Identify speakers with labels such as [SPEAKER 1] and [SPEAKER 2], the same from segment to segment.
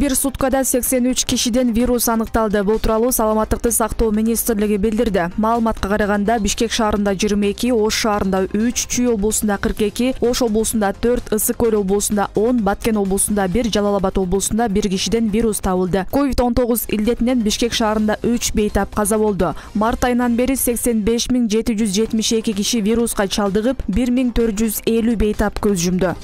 [SPEAKER 1] Бир суткада 83 кишиден вирус аныкталды. Бул тууралуу Саламаттыкты сактоо министрлиги билдирди. Маалыматка караганда Бишкек шаарында 22, Ош шаарында 3, Чүй облусунда 42, Ош облусунда 4, Ысык Көл облусунда 10, Баткен облусунда 1, Жалал Абад облусунда 1 кишиден вирус табылды. COVID-19 илдетинен Бишкек шаарында 3 бейтап каза болду. Март айынан бери 85.772 киши вируска чалдыгып, 1450 бейтап көз жумду.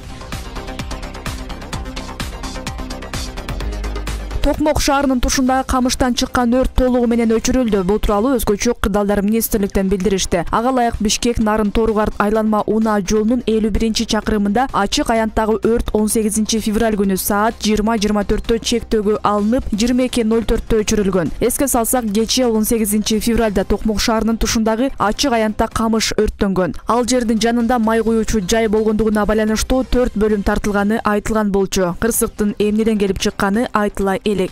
[SPEAKER 1] Токмок шаарынын тушундагы камыштан чыккан өрт толугу менен өчүрүлдү. Бул тууралуу Өзгөчө кырдаалдар министрликтен билдиришти. Ага ылайык Бишкек Нарын Торугарт айланма унаа жолунун 51-чакырымында ачык аянттагы өрт 18 февраль күнү саат 20:24 чектөөгө алынып, 22:04 өчүрүлгөн. Эске салсак, кечээ 18 февралда Токмок шаарынын тушундагы ачык аянтта камыш өрттөнгөн. Ал жердин жанында май куюучу жай болгондугуна байланыштуу 4 бөлүм тартылганы айтылган болчу. Кырсыктын эмнеден келип чыкканы айтыла элек.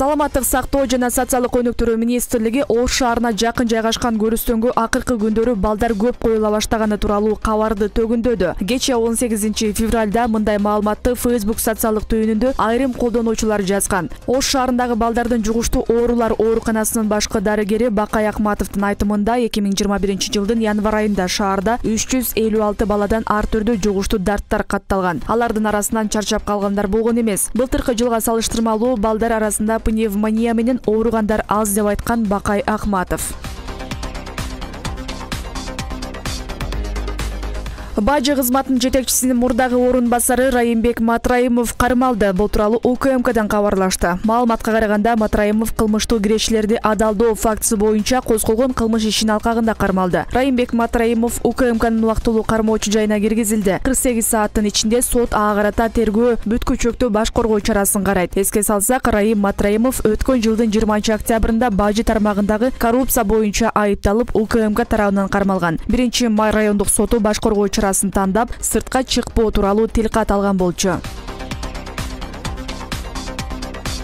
[SPEAKER 1] Саламаттык сактоо жана социалдык өнүктүрүү министрлиги Ош шаарына жакын жайгашкан көрүстөнгө акыркы күндөрү балдар көп коюла баштаганы тууралуу кабарды төгүндөдү. Кечээ 18 февралда мындай маалыматты Facebook социалдык түйүнүндө айрым колдонуучулар жазган. Ош шаарындагы балдардын жугуштуу оорулар ооруканасынын башкы дарыгери Бакай Акматовдун айтымында 2021 жылдын январь айында шаарда 356 баладан ар түрдүү жугуштуу дарттар катталган. Алардын арасынан чарчап калгандар болгон эмес. Былтыркы жылга салыштырмалуу балдар арасында пневмония менен ооругандар аз деп айткан Бакай Акматов. Бажы кызматынын жетекчисинин мурдагы орун басары Райымбек Матраимов кармалды. Бул тууралуу УКМКдан кабарлашты. Маалыматка караганда Матраимов кылмыштуу кирешилерди адалдоо фактысы боюнча козголгон кылмыш ишинин алкагында кармалды. Райымбек Матраимов УКМКнын убактылуу кармоочу жайына киргизилди. 48 сааттын ичинде сот ага карата тергөө бүткүчөктүү баш коргоо чарасын карайт. Эске салсак, Райым Матраимов өткөн жылдын 20 октябрында бажы тармагындагы коррупция боюнча айыпталып, УКМК тарабынан кармалган. 1-май райондук соту баш коргоо чарасын тандап, сыртка чыкпоо тууралуу тилкат алган болчу.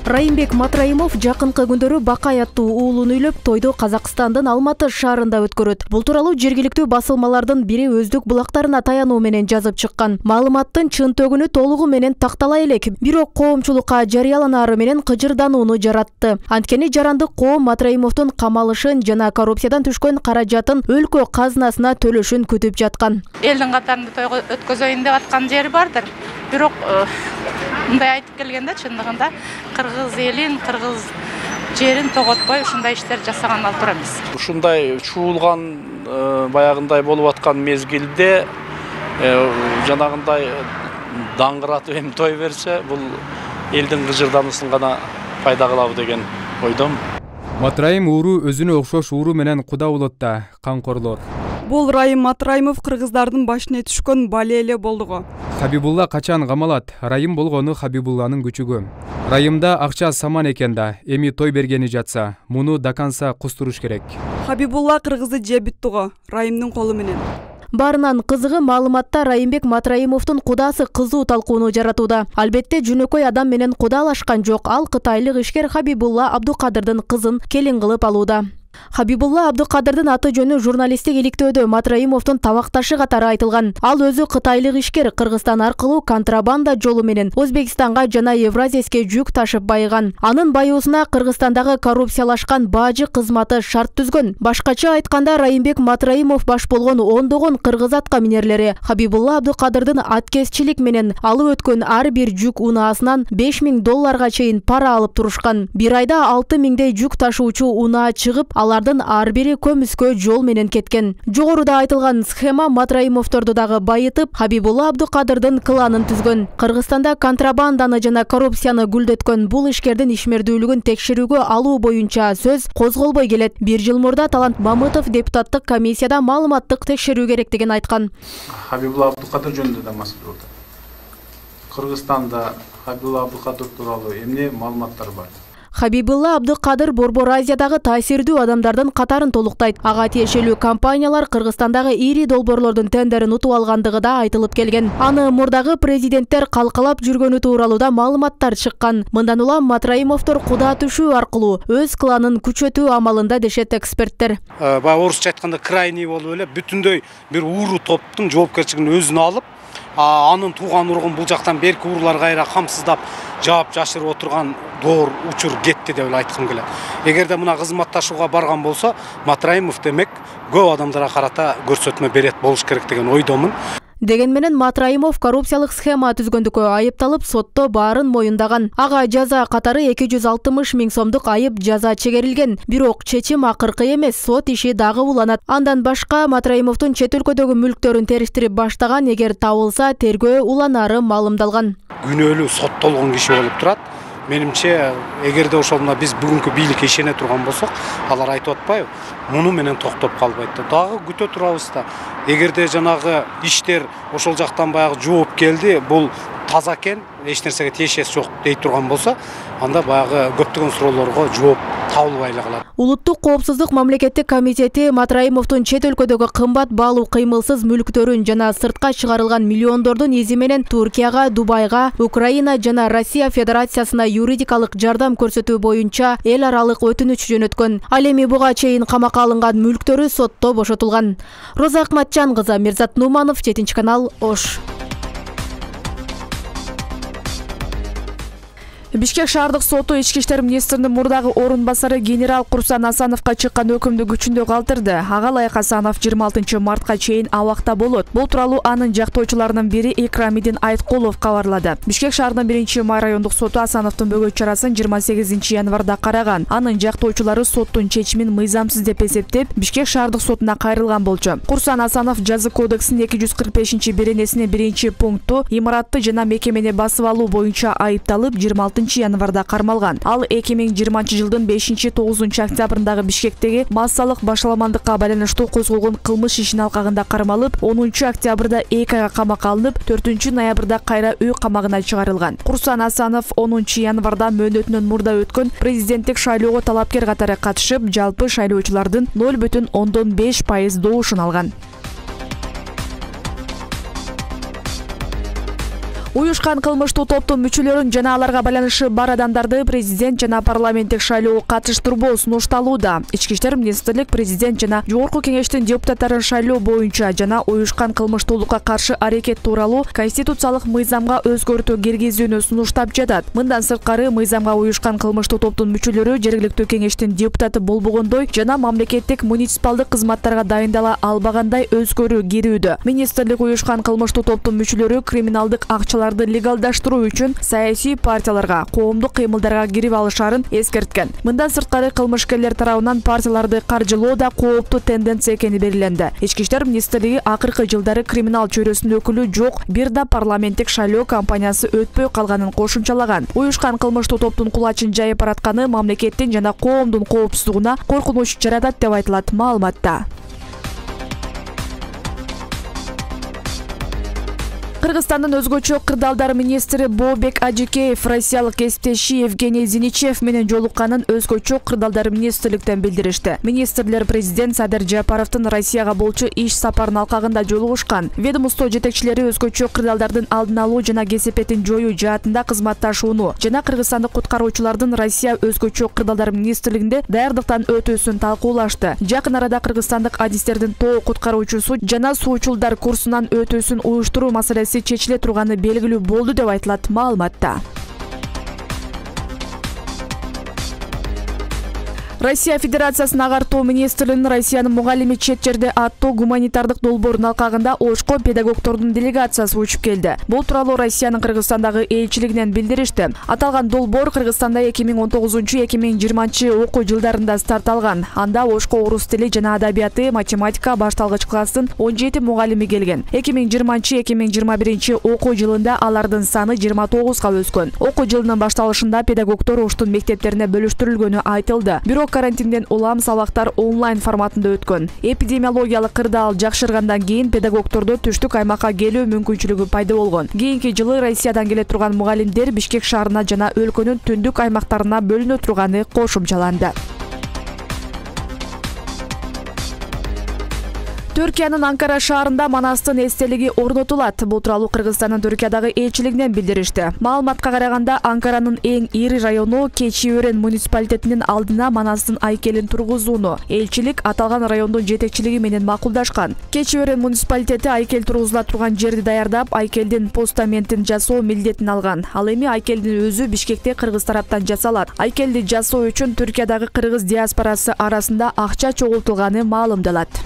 [SPEAKER 1] Райымбек Матраимов жакынкы күндөрү Бакай аттуу уулун үйлөп, тойду Казакстандын Алматы шаарында өткөрөт. Бул тууралуу жергиликтүү басылмалардын бири өздүк булактарына таянуу менен жазып чыккан. Маалыматтын чын төгүнү толугу менен тактала элек, бирок коомчулукка жарыяланаары менен кыжырданууну жаратты. Анткени жарандык коом Матраимовдун камалышын жана коррупциядан түшкөн каражатын өлкө казынасына төлөшүн күтүп жаткан.
[SPEAKER 2] Элдин катарында тойго өткөзөйүн деп аткан жери бардыр. Бирок мындай айтып келгенде чындыгында кыргыз элин, кыргыз жерин тоготпой ушундай иштер жасаган ал туура эмес.
[SPEAKER 3] Ушундай чуулган баягындай болуп аткан мезгилде жанагындай даңгыратып эми той берсе, бул элдин кыжырдануусун гана пайда кылабы деген ойдом.
[SPEAKER 4] Матраим ууру өзүнө окшош ууру менен куда болот да камкорлор.
[SPEAKER 5] Бул Райым Матраимов кыргыздардын башына түшкөн бале эле болдуго.
[SPEAKER 4] Хабибулла качан камалат? Райым болгону Хабибулланын күчүгү. Райымда акча саман экен да, эми той бергени жатса, муну даканса кустуруш керек.
[SPEAKER 5] Хабибулла кыргызды жебит туго, Райымдын колу менен.
[SPEAKER 6] Барынан кызыгы маалыматта Райымбек Матраимовдун кудасы кызуу талкууну жаратууда. Албетте жөнөкөй адам менен кудалашкан жок. Ал кытайлык ишкер Хабибулла Абдукадырдын кызын келин кылып алууда. Хабибулла Абдукадырдын аты жөнү журналисттик иликтөөдө Матраимовдун табакташы катары айтылган. Ал өзү кытайлык ишкер, Кыргызстан аркылуу контрабанда жолу менен Өзбекстанга жана Евразияске жүк ташып байыган. Анын байуусуна Кыргызстандагы коррупциялашкан бажы кызматы шарт түзгөн. Башкача айтканда, Райымбек Матраимов баш болгон ондогон кыргыз атка минерлери Хабибулла Абдукадырдын аткезчилик менен алып өткөн ар бир жүк унаасынан $5000 чейин пара алып турушкан. Бир айда 6000дей жүк ташуучу унаа чыгып, алардын ар бири көмүскө жол менен кеткен. Жогоруда айтылган схема Матраимовдорду дагы байытып, Хабибулла Абдукадырдын кланын түзгөн. Кыргызстанда контрабанданы жана коррупцияны гүлдөткөн бул ишкердин ишмердүүлүгүн текшерүүгө алуу боюнча сөз козголбой келет. Бир жыл мурда Талант Мамытов депутаттык комиссияда маалыматтык текшерүү керектигин айткан.
[SPEAKER 7] Хабибулла Абдукадыр жөнүндө да маселе болду. Кыргызстанда Хабибулла Абдукадыр тууралуу эмне маалыматтар бар?
[SPEAKER 6] Хабибулла Абдукадыр Борбор Азиядагы таасирдүү адамдардын катарын толуктайт. Ага тиешелүү компаниялар Кыргызстандагы ири долбоорлордун тендерин утуп алгандыгы да айтылып келген. Аны мурдагы президенттер калкалап жүргөнү тууралуу да маалыматтар чыккан. Мындан улам Матраимовдор куда түшүү аркылуу өз кланын күчөтүү амалында дешет эксперттер.
[SPEAKER 8] Орусча айтканда крайний болуп эле бүтүндөй бир ууру топтун жоопкерчилигин өзүнө алып, анын тууган ургун бул жактан берки уруулар кайра камсыздап жаап жашырып отурган доор учур кетти деп эле айткым келет. Эгерде мына кызматташууга барган болсо, Матраимов демек көп адамдарга карата көрсөтмө берет болуш керек деген ойдомун.
[SPEAKER 6] Деген менен Матраимов коррупциялык схема түзгөндүккө айыпталып, сотто баарын моюндаган. Ага жаза катары 260 000 сомдук айып жаза чегерилген. Бирок чечим акыркы эмес, сот иши дагы уланат. Андан башка Матраимовдун чет өлкөдөгү мүлктөрүн териштирип баштаган, эгер табылса, тергөө уланары маалымдалган.
[SPEAKER 8] Күнөөлүү соттолгон киши болуп турат. Менимче, эгерде ошол мына биз бүгүнкү бийликке ишене турган болсок, алар айтып атпайбы? Муну менен токтоп калбайт да. Дагы күтө турабыз да. Эгерде жанагы иштер ошол жактан баягы жооп келди, бул таза экен, эч нерсеге тиешеси жок дей турган болсо, анда баягы көптөгөн суроолорго жооп табылбай эле калат.
[SPEAKER 6] Улуттук коопсуздук мамлекеттик комитети Матраимовдун чет өлкөдөгү кымбат баалуу кыймылсыз мүлктөрүн жана сыртка чыгарылган миллиондордун изи менен Туркияга, Дубайга, Украина жана Россия Федерациясына юридикалык жардам көрсөтүү боюнча эл аралык өтүнүч жөнөткөн. Ал эми буга чейин камакка алынган мүлктөрү сотто бошотулган. Роза Акматжан кызы, Мирзат Нуманов, 7 канал, Ош.
[SPEAKER 1] Бишкек шаардык соту ички иштер министринин мурдагы орун басары генерал Курсан Асановго чыккан өкүмдү күчүндө калтырды. Ага ылайык Асанов 26 мартка чейин абакта болот. Бул тууралуу анын жактоочуларынын бири Экрамидин Айткулов кабарлады. Бишкек шаарынын 1-май райондук соту Асановдун бөгөт чарасын 28 январда караган. Анын жактоочулары соттун чечимин мыйзамсыз деп эсептеп, Бишкек шаардык сотуна кайрылган болчу. Курсан Асанов жаза кодексинин 245-беренесинин 1-пункту имаратты жана мекемени басып алуу боюнча айыпталып 26 январда кармалган. Ал 2020 жылдын 5-9 октябрындагы Бишкектеги массалык башаламандыкка байланыштуу козголгон кылмыш ишин алкагында кармалып, 10 октябрда 2 айга камакка алынып, 4 ноябрда кайра үй камагына чыгарылган. Курсан Асанов 10 январда мөөнөтүнөн мурда өткөн президенттик шайлоого талапкер катары катышып, жалпы шайлоочулардын 0,5% добушун алган. Уюшкан кылмыштуу топтун мүчөлөрүн жана аларга байланышы бар адамдарды президент жана парламенттик шайлоого катыштырбоо сунушталууда. Ички иштер министрлик президент жана жогорку кеңештин депутаттарын шайлоо боюнча жана уюшкан кылмыштуулукка каршы аракет тууралуу конституциялык мыйзамга өзгөртүү киргизүүнү сунуштап жатат. Мындан сырткары мыйзамга уюшкан кылмыштуу топтун мүчөлөрү жергиликтүү кеңештин депутаты болбогондой жана мамлекеттик муниципалдык кызматтарга дайындала албагандай өзгөрүү кирүүдө. Министрлик уюшкан кылмыштуу топтун мүчөлөрү криминалдык акчалар легалдаштыруу үчүн саясий партияларга, коомдук кыймылдарга кирип алышарын эскерткен. Мындан сырткары кылмышкерлер тарабынан партияларды каржылоо да кооптуу тенденция экени белгиленди. Ички иштер министрлиги акыркы жылдары криминал чөйрөсүнүн өкүлү жок, бир да парламенттик шайлоо кампаниясы өтпөй калганын кошумчалаган. Уюшкан кылмыштуу топтун кулачын жайып баратканы мамлекеттин жана коомдун коопсуздугуна коркунуч жаратат деп айтылат маалыматта. Кыргызстандын өзгөчө кырдаалдар министри Бообек Ажикеев россиялык кесиптеши Евгений Зиничев менен жолукканын өзгөчө кырдаалдар министрликтен билдиришти. Министрлер президент Садыр Жапаровдун Россияга болчу иш сапарынын алкагында жолугушкан. Ведомство жетекчилери өзгөчө кырдаалдардын алдын алуу жана кесепетин жоюу жаатында кызматташууну жана кыргызстандык куткаруучулардын Россия өзгөчө кырдаалдар министрлигинде даярдыктан өтүүсүн талкуулашты. Жакын арада кыргызстандык адистердин тоо куткаруучусу жана суучулдар курсунан өтүүсүн уюштуруу маселеси чечиле турганы белгилүү болду деп айтылат маалыматта. Россия Федерациясынын агартуу министрлигинин Россиянын мугалими чет жерде аттуу гуманитардык долбоорунун алкагында Ошко педагогдордун делегациясы учуп келди. Бул тууралуу Россиянын Кыргызстандагы элчилигинен билдиришти. Аталган долбоор Кыргызстанда 2019-2020 окуу жылдарында старт алган. Анда Ошко орус тили жана адабияты, математика башталгыч класстын 17 мугалими келген. 2020-2021 окуу жылында алардын саны 29га өскөн. Окуу жылынын башталышында педагогдор Оштун мектептерине бөлүштүрүлгөнү айтылды. Бирок карантинден улам сабактар онлайн форматында өткөн. Эпидемиологиялык кырдаал жакшыргандан кийин педагогдордо түштүк аймакка келүү мүмкүнчүлүгү пайда болгон. Кийинки жылы Россиядан келе турган мугалимдер Бишкек шаарына жана өлкөнүн түндүк аймактарына бөлүнө турганы кошумчаланды. Түркиянын Анкара шаарында Манастын эстелиги орнотулат. Бул тууралуу Кыргызстандын Түркиядагы элчилигинен билдиришти. Маалыматка караганда, Анкаранын эң ири району Keçiören муниципалитетинин алдына Манастын айкелин тургузууну элчилик аталган райондун жетекчилиги менен макулдашкан. Keçiören муниципалитети айкел тургузула турган жерди даярдап, айкелдин постаментин жасоо милдетин алган. Ал эми айкелдин өзү Бишкекте кыргыз тараптан жасалат. Айкелди жасоо үчүн Түркиядагы кыргыз диаспорасы арасында акча чогултулганы маалымдалат.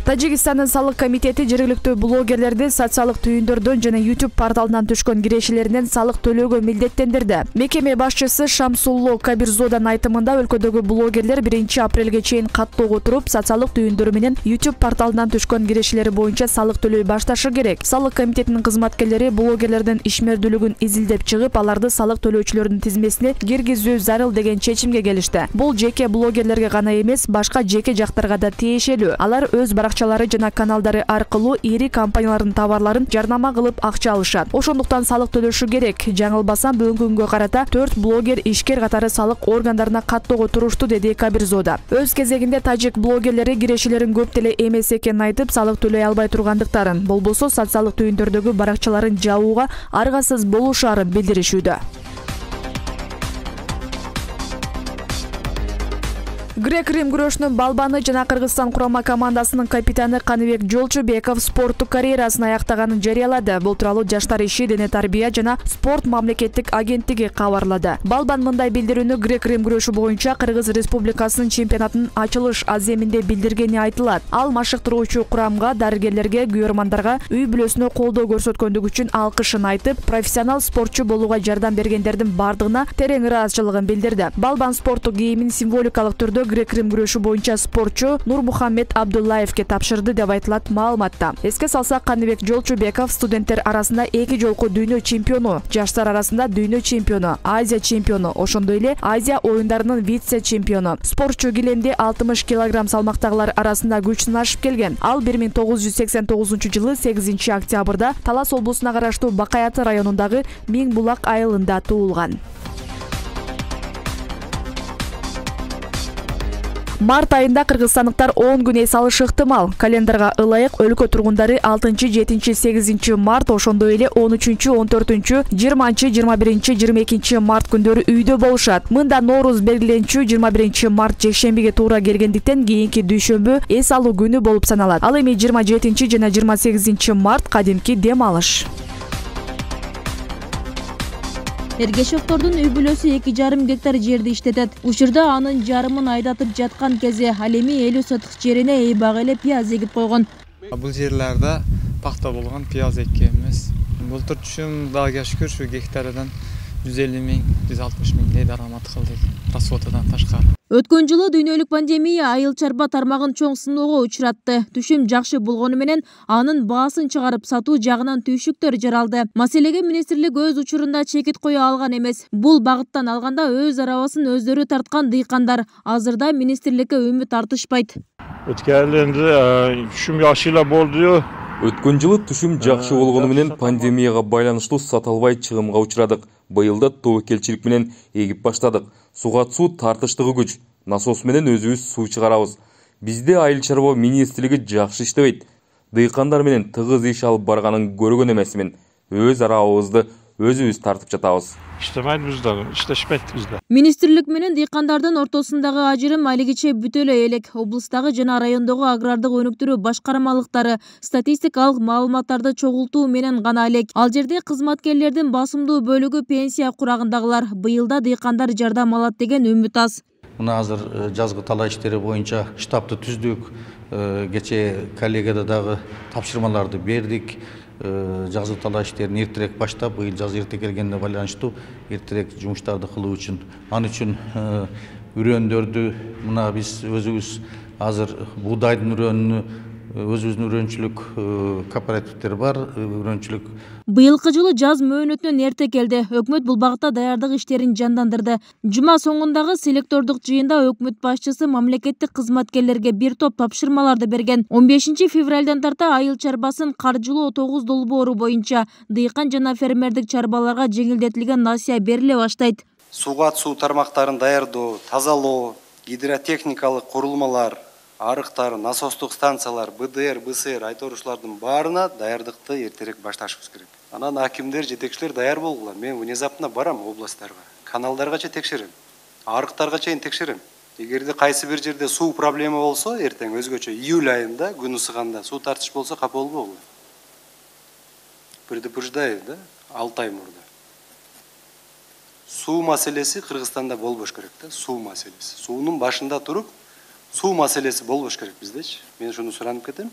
[SPEAKER 1] Тажикстандын салык комитети жергиликтүү блогерлерди социалдык түйүндөрдөн жана YouTube порталынан түшкөн кирешелеринен салык төлөөгө милдеттендирди. Мекеме башчысы Шамсулло Кабирзоданын айтымында өлкөдөгү блогерлер 1 апрелге чейин каттоого туруп, социалдык түйүндөрү менен YouTube порталынан түшкөн кирешелери боюнча салык төлөй башташы керек. Салык комитетинин кызматкерлери блогерлердин ишмердүүлүгүн изилдеп чыгып, аларды салык төлөөчүлөрдүн тизмесине киргизүү зарыл деген чечимге келишти. Бул жеке блогерлерге гана эмес, башка жеке жактарга да тиешелүү. Алар өз акчалары жана каналдары аркылуу ири компаниялардын товарларын жарнама кылып акча алышат. Ошондуктан салык төлөшү керек. Жаңылбасам, бүгүнкү күнгө карата 4 блогер ишкер катары салык органдарына каттоого турушту, деди Кабирзода. Өз кезегинде тажик блогерлери кирешелерин көп деле эмес экенин айтып, салык төлөй албай тургандыктарын, болбосо социалдык түйүндөрдөгү баракчаларын жабууга аргасыз болушаарын билдиришүүдө. Грек-Рим күрөшүнүн балбаны жана Кыргызстан курама командасынын капитаны Каныбек Жолчубеков спорттук карьерасын аяктаганын жарыялады. Бул тууралуу Жаштар иши, дене тарбия жана спорт мамлекеттик агенттиги кабарлады. Балбан мындай билдирүүнү Грек-Рим күрөшү боюнча Кыргыз Республикасынын чемпионатынын ачылыш аземинде билдиргени айтылат. Ал машыктыруучу курамга, дарыгерлерге, күйөрмандарга үй бүлөсүнө колдоо көрсөткөндүгү үчүн алкышын айтып, профессионал спортчу болууга жардам бергендердин бардыгына терең ыраазычылыгын билдирди. Балбан спорттук кийимин символикалык түрдө Грек-Рим күрөшү боюнча спортчу Нурмухаммед Абдуллаевке тапшырды деп айтылат маалыматта. Эске салсак, Каныбек Жолчубеков студенттер арасында 2 жолку дүйнө чемпиону, жаштар арасында дүйнө чемпиону, Азия чемпиону, ошондой эле Азия оюндарынын вице-чемпиону. Спортчу килемде 60 кг салмактагылар арасында күч сынашып келген. Ал 1989 жылы 8 октябрда Талас облусуна караштуу Бакай Аты районундагы Миң Булак айылында туулган. Март айында кыргызстандыктар 10 күн эс алышы ыктымал. Календарга ылайык өлкө тургундары 6, 7, 8 март, ошондой эле 13, 14, 20, 21, 22 март күндөрү үйдө болушат. Мында Норуз белгиленчү 21 март жекшембиге туура келгендиктен кийинки дүйшөмбү эс алуу күнү болуп саналат. Ал эми 27 жана 28 март кадимки дем алыш.
[SPEAKER 9] Эргешевдордун үй бүлөсү 2,5 гектар жерди иштетет. Учурда анын жарымын айдатып жаткан кези ал эми 50 сотук жерине эйбак эле пияз эгип койгон.
[SPEAKER 10] Бул жерлерде пахта болгон, пияз эккенбиз. Былтыр түшүм Дагыга шүкүр ушу гектардан 150 миң, 160 миңдей дарамат кылдык расходудан ташкары.
[SPEAKER 9] Өткөн жылы дүйнөлүк пандемия айыл чарба тармагын чоң сыноого учуратты. Түшүм жакшы болгону менен анын баасын чыгарып сатуу жагынан түйшүктөр жаралды. Маселеге министрлик өз учурунда чекит кое алган эмес. Бул багыттан алганда өз арабасын өздөрү тарткан дыйкандар азырда министрликке үмүт артышпайт.
[SPEAKER 11] Өткөрүлгөндө түшүм жакшы эле болду.
[SPEAKER 12] Өткөн жылы түшүм жакшы болгону менен пандемияга байланыштуу сата албай чыгымга учурадык. Быйылда тобокелчилик менен эгип баштадык. Суга суу тартыштыгы күч. Насос менен өзүбүз суу чыгарабыз. Бизде айыл чарба министрлиги жакшы иштебейт. Дыйкандар менен тыгыз иш алып барганын көргөн эмесмин. Өз арабыбызды өзүбүз тартып жатабыз.
[SPEAKER 11] Иштемейбиз да, иштешпейбиз да.
[SPEAKER 9] Министрлик менен дыйкандардын ортосундагы ажырым алигиче бүтө эле элек. Облустагы жана райондогу агрардык өнүктүрүү башкармалыктары статистикалык маалыматтарды чогултуу менен гана элек. Ал жерде кызматкерлердин басымдуу бөлүгү пенсия курагындагылар. Быйылда дыйкандар жардам алат деген үмүт аз.
[SPEAKER 13] Мына азыр жазгы талаа иштери боюнча штабты түздүк. Кечээ коллегада дагы тапшырмаларды бердик. Жазгы талаа иштерин эртерээк баштап, быйыл жаз эрте келгенине байланыштуу эртерээк жумуштарды кылуу үчүн, ал үчүн үрөндөрдү мына биз өзүбүз азыр буудайдын үрөнүнү өзүбүздүн үрөнчүлүк кооперативдер бар, үрөнчүлүк.
[SPEAKER 9] Быйылкы жылы жаз мөөнөтүнөн эрте келди. Өкмөт бул багытта даярдык иштерин жандандырды. Жума соңундагы селектордук жыйында өкмөт башчысы мамлекеттик кызматкерлерге бир топ тапшырмаларды берген. 15 февралдан тарта айыл чарбасын каржылоо 9 долбоору боюнча дыйкан жана фермердик чарбаларга жеңилдетилген насыя бериле баштайт.
[SPEAKER 14] Суга суу тармактарын даярдоо, тазалоо, гидротехникалык курулмалар, арыктар, насостук станциялар, БДР, БСР айторушулардын баарына даярдыкты эртерээк башташыбыз керек. Анан акимдер, жетекчилер даяр болгула. Мен внезапно барам областтарга, каналдаргача текшерем, арыктарга чейин текшерем. Эгерде кайсы бир жерде суу проблема болсо, эртең өзгөчө июль айында күн ысыганда суу тартыш болсо капа болбогула. Предупреждаю, да, 6 ай мурда. Суу маселеси Кыргызстанда болбош керек да, суу маселеси. Суунун башында туруп, суу маселеси болбош керек биздечи. Мен шуну суранып кетем.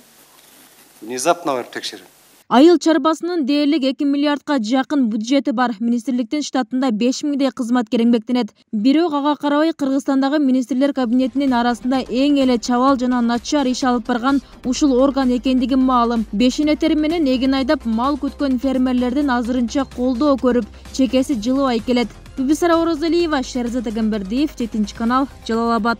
[SPEAKER 14] Внезапно барып текшерем.
[SPEAKER 9] Айыл чарбасынын дээрлик 2 миллиардка жакын бюджети бар. Министрликтин штатында 5000дей кызматкер эмгектенет. Бирок ага карабай Кыргызстандагы министрлер кабинетинин арасында эң эле чабал жана начар иш алып барган ушул орган экендиги маалым. Бешинетери менен эгин айдап мал күткөн фермерлердин азырынча колдоо көрүп, чекеси жылыбай келет. Бибисара Оразалиева, Шерзат Агамбердиев, 7 канал, Жалал Абад.